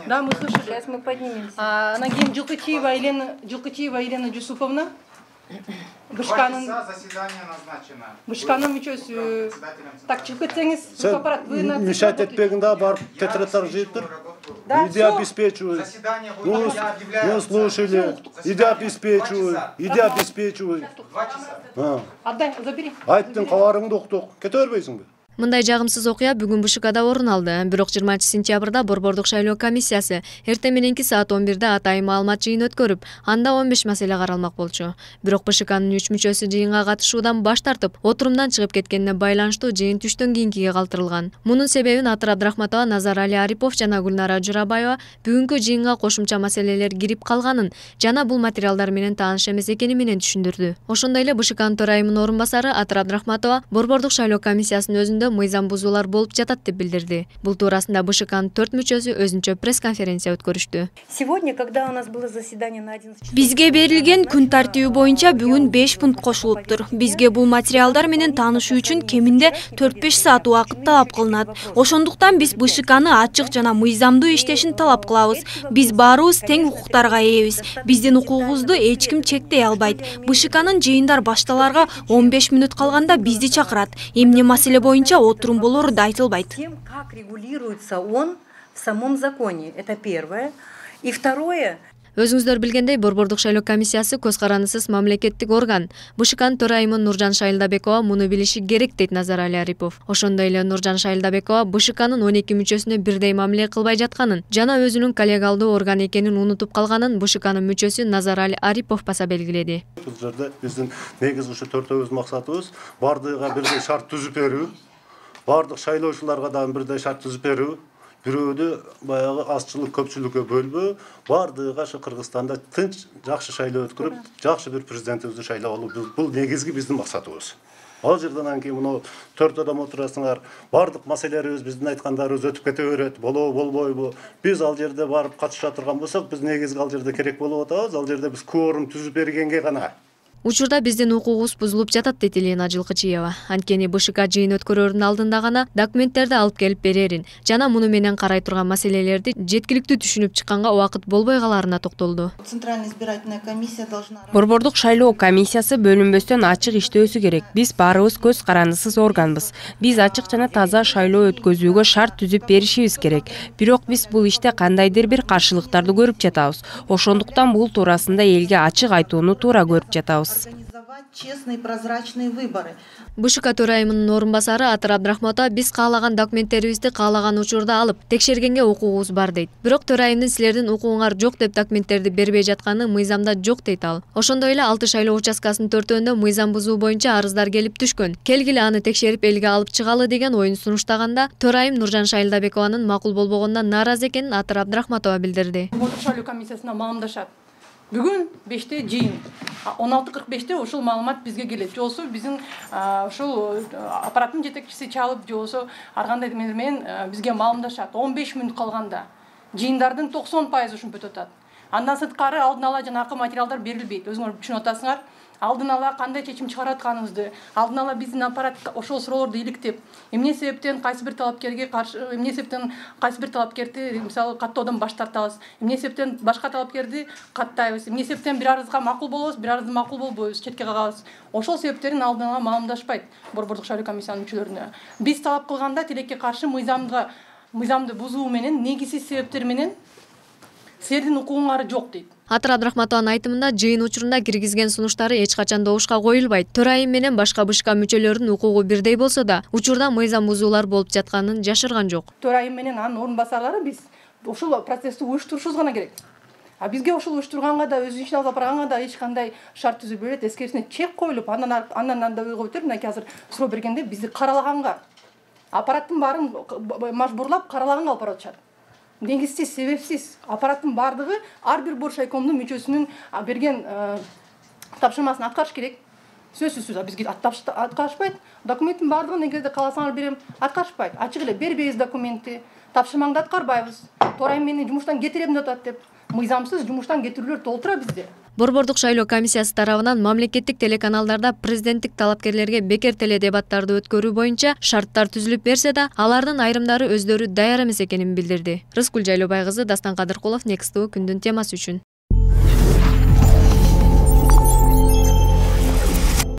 Да, мы слышали. Сейчас мы поднимемся. Нагим Джилкачиева Елена Юсуповна. Бышканын заседание назначено. Бышканын мүчөсү. Так, чыгып кетсеңиз, аппарат вы на мешать этпегинде барып тетрадьтар жыйыптыр. Иди обеспечивай. Ну, слушали. Иди обеспечивай. 2 часа. Отдай, забери. Айттың кабарыңды уктук. Кете бербейсиңби? Мындай жагымсыз окуя бүгүн БШКда орун алды. Бирок 20-сентябрда Борбордук шайлоо комиссиясы эртең мененки саат 11-де атайын маалымат жыйын өткөрүп, анда 15 маселе каралмак болчу. Бирок БШКнын 3 мүчөсү жыйынга катышуудан баш тартып, отурумдан чыгып кеткенине байланыштуу жыйын түштөн кийинкиге калтырылган. Мунун себебин Атыр Абдрахматова, Назарали Арипов жана Гүлнара Журабаева бүгүнкү жыйынга кошумча маселелер кирип калганын жана бул материалдар менен тааныш эмес экени менен түшүндүрдү. Ошондой эле БШКнын төрайымынын орун басары Атыр Абдрахматова Борбордук шайлоо комиссиясынын өзүндө мыйзам бузуулар болуп жатат деп билдирди. Бул туурасында БШКнын 4 мүчөсү өзүнчө пресс-конференция өткөрүштү. Сегодня, когда у нас было заседание на 11 часов... Бизге берилген күн тартиби боюнча бүгүн 5 пункт кошулуптур. Бизге бул материалдар менен таанышуу үчүн кеминде 4-5 саат убакыт талап кылынат. Ошондуктан биз БШКны ачык жана мыйзамдуу иштешин талап кылабыз. Биз баарыбыз тең укуктарга ээбиз. Биздин укугубузду эч ким чектей албайт. БШКнын жыйындар башталарга 15 мүнөт калганда бизди чакырат. Эмне маселе боюнча отурум болору да айтылбайт. Тем, как регулируется он в самом законе, это первое. И второе. Өзүңүздөр билгендей, Борбордук шайлоо комиссиясы көз карандысыз мамлекеттик орган. БШКнын төрайымы Нуржан Шайылдабекова муну билиши керек дейт Назарали Арипов. Ошондой эле Нуржан Шайылдабекова БШКнын 12 мүчөсүнө бирдей мамиле кылбай жатканын жана өзүнүн коллегалдуу орган экенин унутуп калганын БШКнын мүчөсү Назарали Арипов баса белгиледи. Бул жерде биздин негизги ушу төртөөбүз максатыбыз бардыгына бирдей шарт түзүп берүү. Бардык шайлоочуларга да бирдей шарт түзүп берүү. Бирөөдү баягы азчылык көпчүлүккө бөлбөө, бардыгы ошо Кыргызстанда тынч, жакшы шайлоо өткөрүп, жакшы бир президентибизди шайлап алуу бул негизги биздин максатыбыз. Ал жерден кийин муну 4 адам отурасыңар, бардык маселелерибиз биздин айткандарыбыз өтүп кете берет, болобу болбойбу. Биз ал жерде барып катыша турган болсок, биз негизги ал жерде керек болуп атабыз. Ал жерде биз кворум түзүп бергенге гана. Учурда биздин укугубуз бузулуп жатат дейт Елена Жылкычиева. Анткени БШК жыйын өткөрөрдүн алдында гана документтерди алып келип берерин жана муну менен карай турган маселелерди жеткиликтүү түшүнүп чыкканга убакыт болбой калаарына токтолду. Центральная избирательная комиссия должна... Борбордук шайлоо комиссиясы бөлүнбөстөн ачык иштөөсү керек. Биз баарыбыз көз карандысыз органбыз. Биз ачык жана таза шайлоо өткөзүүгө шарт түзүп беришибиз керек. Бирок биз бул иште кандайдыр бир каршылыктарды көрүп жатабыз. Ошондуктан бул туурасында элге ачык айтууну туура көрүп жатабыз. Организовать честные прозрачные выборы. БШК төрайымынын орун басары Атыр Абдрахматова биз каалаган документтерибизди каалаган учурда алып текшергенге укугубуз бар дейт. Бирок төрайымдын силердин укугуңар жок деп документтерди бербей жатканы мыйзамда жок дейт ал. Ошондой эле 6 шайлоо участкасынын 4-өндө мыйзам бузуу боюнча арыздар келип түшкөн. Келгиле аны текшерип элге алып чыгалы деген оюн сунуштаганда төрайым Нуржан Шайылдабекованын макул болбогонуна нааразы экенин Атыр Абдрахматова билдирди. Борбордук шайлоо комиссиясына маамдашат. Бүгүн 5-те жыйын. 16:45-те ошол маалымат бизге келет. Жолсу биздин ошол аппараттын жетекчиси чалып, жолсу ар кандай менен бизге маалымдашат. 15 мүнөт калганда жыйындардын 90% ушинтип өтөт. Андан сырткары алдын ала жанакы материалдар берилбейт. Өзүңөр түшүнүп атасыңар. Алдын ала кандай чечим чыгарып атканыбызды, алдын ала биздин аппарат ошол суроолорду иликтеп, эмне себептен кайсы бир талапкерге каршы, эмне себептен кайсы бир талапкерди мисалы каттоодон баш тартабыз, эмне себептен башка талапкерди каттайбыз, эмне себептен бир арызга макул болобуз, бир арызды макул болбойбуз, четке кагабыз. Ошол себептерин алдын ала маалымдашпайт Борбордук шайлоо комиссиянын мүчөлөрүнө. Биз талап кылганда тилекке каршы мыйзамды бузуу менен негизги себептер менен силердин укугуңар жок дейт. Атыр Абдрахматованын айтымында жыйын учурунда киргизген сунуштары эч качан добушка коюлбайт. Төрайым менен башка БШК мүчөлөрүнүн укугу бирдей болсо да, учурда мыйзам бузуулар болуп жатканын жашырган жок. Төрайым менен анын орун басарлары биз ушул процессти уюштурушубуз гана керек. А бизге ушул уюштурганга да, өз ишин алып барганга да эч кандай шарт түзүп берет, эскерисине чек коюлуп, андан анда ойго өтөр, мынакей азыр суроо бергенде бизди каралаганга, аппараттын баарын мажбурлап каралаганга алып барып атышат. Негизсиз, себепсиз аппараттын бардыгы ар бир боршайкомдун мүчөсүнүн берген тапшырмасын аткарыш керек. Сөзсүз бизге аткарышпайт. Документтин бардыгын эгерде кааласаңар берем, аткарышпайт. Ачык эле бербейбиз документти, тапшырмаңды аткарбайбыз. Төрайым мени жумуштан кетирем деп атат деп. Мыйзамсыз жумуштан кетирүүлөр толтура бизде. Борбордук шайлоо комиссиясы тарабынан мамлекеттик телеканалдарда президенттик талапкерлерге бекер теледебаттарды өткөрүү боюнча шарттар түзүлүп берсе да, алардын айрымдары өздөрү даяр эмес экенин билдирди. Рыскүл Жайлообай кызы, Дастан Кадыркулов, Next күндүн темасы үчүн.